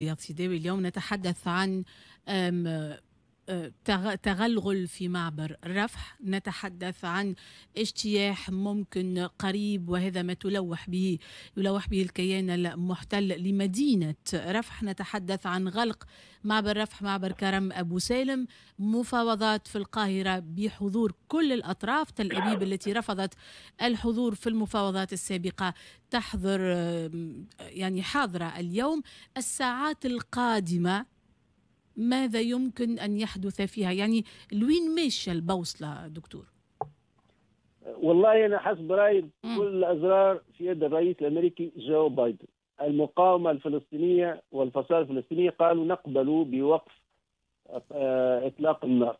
رياض سيداوي، اليوم نتحدث عن تغلغل في معبر رفح، نتحدث عن اجتياح ممكن قريب، وهذا ما يلوح به الكيان المحتل لمدينة رفح. نتحدث عن غلق معبر رفح، معبر كرم أبو سالم، مفاوضات في القاهرة بحضور كل الأطراف. تل أبيب التي رفضت الحضور في المفاوضات السابقة تحضر، يعني حاضرة اليوم. الساعات القادمة ماذا يمكن أن يحدث فيها؟ يعني لوين ماشية البوصلة دكتور؟ والله أنا حسب رأيي كل الأزرار في يد الرئيس الأمريكي جو بايدن. المقاومة الفلسطينية والفصائل الفلسطينية قالوا نقبل بوقف إطلاق النار،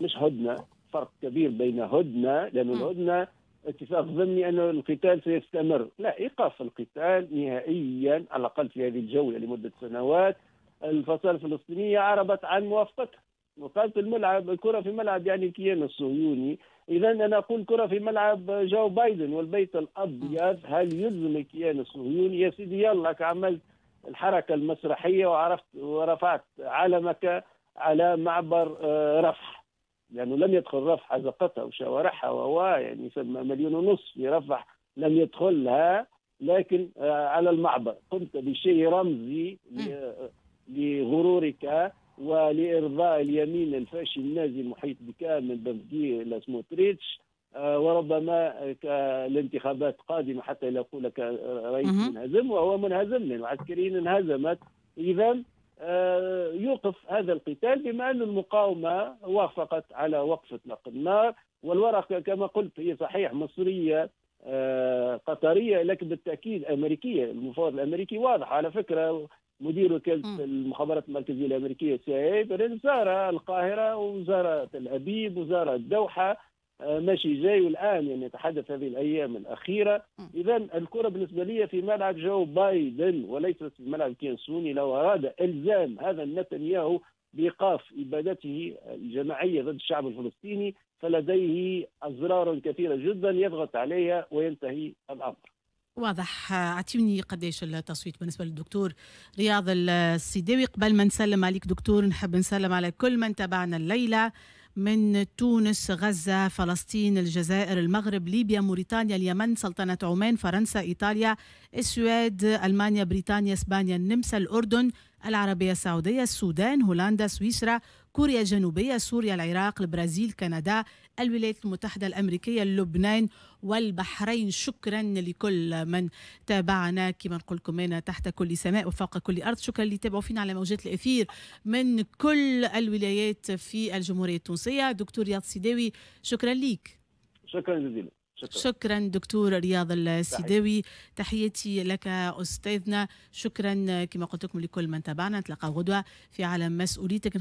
مش هدنة. فرق كبير بين هدنة، لأن الهدنة اتفاق ضمني أن القتال سيستمر، لا، إيقاف القتال نهائيا على الأقل في هذه الجولة لمدة سنوات. الفصائل الفلسطينية عربت عن موافقتها وقالت الملعب، الكرة في ملعب يعني الكيان الصهيوني. إذا أنا أقول كرة في ملعب جو بايدن والبيت الأبيض. هل يلزم الكيان الصهيوني؟ يا سيدي يلا، عملت الحركة المسرحية وعرفت ورفعت علمك على معبر رفح، لأنه لم يدخل رفح، أزقتها وشوارعها، وهو يعني يسمى 1.5 مليون في رفح لم يدخلها، لكن على المعبر قمت بشيء رمزي لغرورك ولإرضاء اليمين الفاشي النازي المحيط بك من بن غفير إلى سموتريتش، وربما الانتخابات قادمة حتى لا يقول لك رئيس منهزم، وهو منهزم لأنه عسكريا انهزمت. إذا يوقف هذا القتال بما أن المقاومة وافقت على وقف إطلاق النار. والورقة كما قلت هي صحيح مصرية قطرية، لكن بالتأكيد أمريكية. المفاوض الأمريكي واضح. على فكرة مدير وكالة المخابرات المركزية الأمريكية CIA زار القاهرة وزار تل أبيب وزار الدوحة، ماشي جاي، والآن يعني يتحدث هذه الأيام الأخيرة. إذا الكرة بالنسبة لي في ملعب جو بايدن وليست في ملعب كيان صهيوني. لو أراد إلزام هذا النتنياهو بإيقاف إبادته الجماعية ضد الشعب الفلسطيني فلديه أزرار كثيرة جدا يضغط عليها وينتهي الأمر. واضح. اعطيني قديش التصويت بالنسبة للدكتور رياض السيداوي. قبل ما نسلم عليك دكتور، نحب نسلم على كل من تابعنا الليلة من تونس، غزة، فلسطين، الجزائر، المغرب، ليبيا، موريتانيا، اليمن، سلطنة عمان، فرنسا، إيطاليا، السويد، ألمانيا، بريطانيا، إسبانيا، النمسا، الأردن، العربية السعودية، السودان، هولندا، سويسرا، كوريا الجنوبية، سوريا، العراق، البرازيل، كندا، الولايات المتحدة الأمريكية، لبنان والبحرين. شكرا لكل من تابعنا، كما نقول لكم أنا تحت كل سماء وفوق كل أرض. شكرا اللي تابعوا فينا على موجات الأثير من كل الولايات في الجمهورية التونسية. دكتور رياض سيداوي، شكرا لك. شكرا جزيلا. شكرا، شكرا دكتور رياض السيداوي، تحياتي لك أستاذنا. شكرا كما قلت لكم لكل من تابعنا. نتلاقى غدوة في عالم مسؤوليتك.